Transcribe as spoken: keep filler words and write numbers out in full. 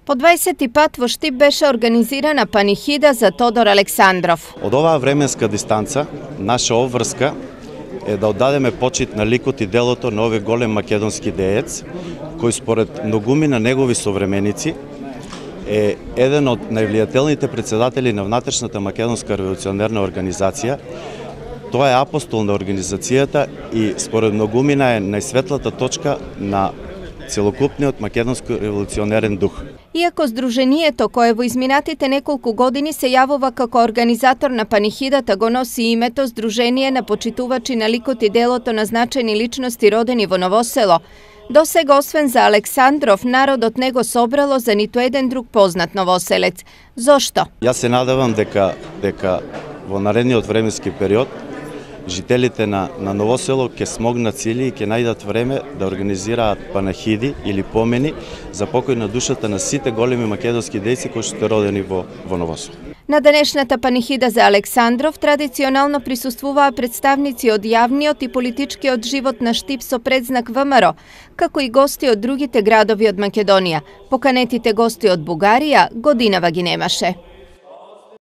По дваесети пат во Штип беше организирана панихида за Тодор Александров. Од оваа временска дистанца, наша обврска е да оддадеме почит на ликот и делото на овој голем македонски деец, кој според многумина негови современици е еден од највлијателните председатели на внатрешната македонска револуционерна организација. Тоа е апостол на организацијата и според многумина е најсветлата точка на целокупниот македонски револуционерен дух. Иако Сдруженијето, кое во изминатите неколку години се јавува како организатор на панихидата, го носи името Сдружение на почитувачи на ликот и делото на значајни личности родени во Новосело, досега освен за Александров, народот не го собрало за ниту еден друг познат новоселец. Зошто? Јас се надевам дека дека во наредниот временски период жителите на, на Новосело ќе смогнат сили и ќе најдат време да организираат панахиди или помени за покој на душата на сите големи македонски дејци кои што родени во, во Новосело. На денешната панихида за Александров традиционално присуствуваа представници од јавниот и политичкиот живот на Штип со предзнак ВМРО, како и гости од другите градови од Македонија. Поканетите гости од Бугарија годинава ги немаше.